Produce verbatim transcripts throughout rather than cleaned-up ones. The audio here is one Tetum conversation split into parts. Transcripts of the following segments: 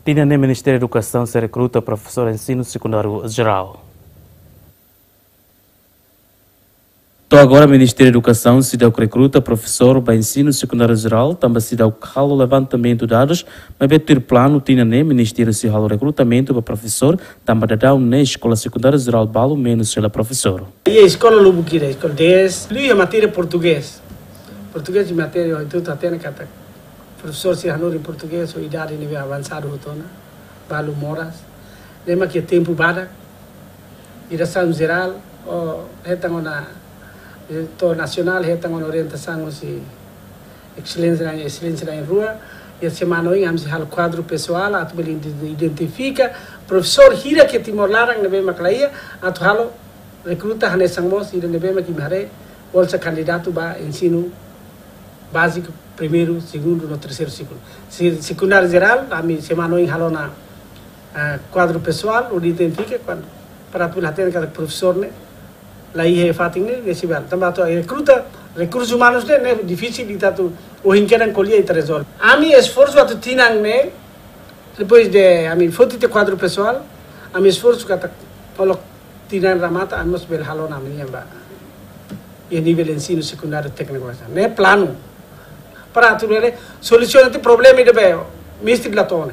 Tinan ne'e Ministériu Edukasaun sei rekruta profesór ensinu sekundáriu jerál. To'o agora Ministériu Edukasaun seidauk rekruta profesór ba ensinu sekundáriu jerál, tanba seidauk halo levantamentu dadus, maibé tuir planu tinan ne'e Ministériu sei halo rekrutamentu ba profesór, tanba daudaun ne'e eskola sekundáriu jerál balu menus hela profesór. Iha eskola lubuk ida, eskola dez, liuliu iha matéria portugés. Portugés nia matéria, entaun ita hatene katak profesór sira hanorin portugés, ho idade ne'ebé avansadu hotu ona, balu moras. Ne'e mak iha tempu badak, diresaun jerál, ou hetan ona, diretór nasionál, hetan ona orientasaun husi eselénsia, eselénsia na'in-rua, iha semana oin ami sei halo kuadru pesoál, atu bele ide-, identifika profesór hira iha Timor laran ne'ebé mak laiha, atu halo rekruta hanesan mós ida ne'ebé mak imi haree, bolsa kandidatu ba ensinu báziku, primeiru, segundu no terseiru siklu. Se-, sekundáriu jerál, ami semana oin halo ona, ah, kuadru pesoál, hodi identifika, kuandu, para atu bele hatene katak profesór ne'e laiha iha fatin ne'e, ne'e sei bele. Tanba atu rekruta rekursus umanus ne'e, ne'e difisil, ita atu ohin kedan ko'alia ita rezolve. Ami esforsu atu tinan ne'e, depois de ami foti tiha kuadru pesoál, ami esforsu katak, kalau tinan remata, ami mós bele halo ona ami-nian ba iha nivel ensinu sekundáriu tékniku. Ne'e planu. Para atu bele solusiona tiha problema ida be, mestre la tone.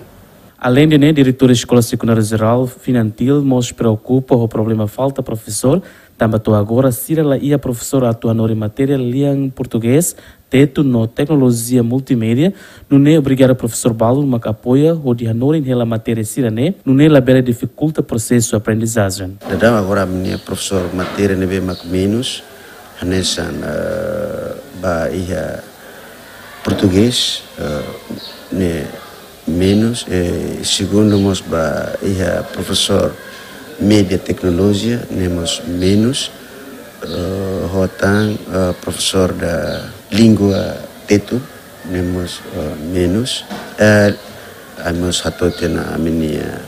Aleinde ne'e, diretór eskola sekundáriu jerál Finantil mós preokupa ho problema falta profesór, tanba to'o agora sira laiha profesór atu hanorin matéria lian portugés, tetun no teknolojia multimédia, nune'e obriga profesór balu mak apoia hodi hanorin hela matéria sira-ne'e, nune'e labele difikulta prosesu aprendizajen. Daudaun agora ami-nia profesór matéria ne'ebé mak menus, hanesan, eh, ba iha portugés, eh, ne'e menus, eh, segundu mós ba iha profesór média teknolojia, ne'e mós menus, eh, ho tan, eh, profesór da língua tetun, ne'e mós, eh, menus. Eh, ami mós hato'o tiha ona ami-nia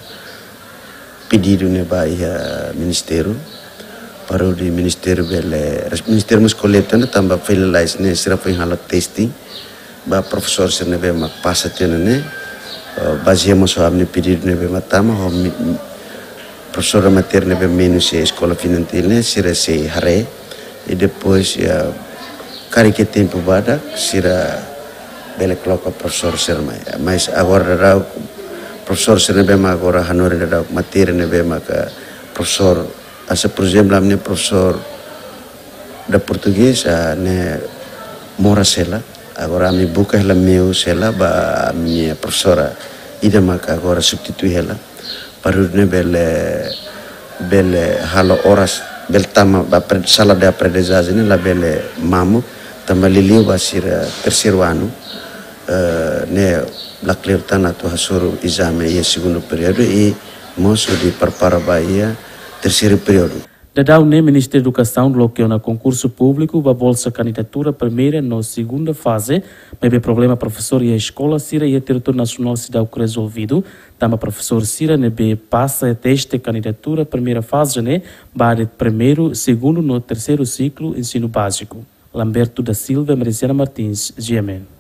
pedidu ne'e ba iha ministériu, para hodi ministériu bele, res-, ministériu mós koleta ona tanba fila lalais ne'e sira foin halo testing ba profesór sira ne'ebé mak pasa tiha ona ne'e, eh, bazeia mós ho ami-nia pedidu ne'ebé mak tama, ho mi-, profesór matéria ne'ebé menus iha eskola Finantil ne'e, sira sei haree, i depois, ya, karik iha tempu badak, sira bele koloka profesór sira mai. Mas agora daudaun, profesór sira ne'ebé mak agora hanorin daudaun matéria ne'ebé mak, eh, profesór, hanesan, por ezemplu, ami-nia profesór da portugés, ah, ne'e moras hela. Agora ami buka hela meius hela ba ami-nia profesora ida mak agora substitui hela. Para hodi nune'e bele, bele halo oras, bele tama ba apre-, sala de aprendizajen ne'e labele mamuk, tanba liuliu ba sira terseiru anu, eh, ne'e la kleur tan atu hasoru ezame iha segundu períodu i mós hodi prepara ba iha terseiru períodu. Daudaun ne'e Ministériu Edukasaun loke ona konkursu públiku ba bolsa kandidatura primeira no segunda faze, maibé problema profesór iha eskola sira iha territóriu nasionál seidauk rezolvidu, tanba profesór sira ne'ebé pasa teste kandidatura primeira faze ne'e ba de'it primeiru, segundu no terseiru siklu ensinu báziku. Lamberto da Silva, Merisiana Martins, G M N.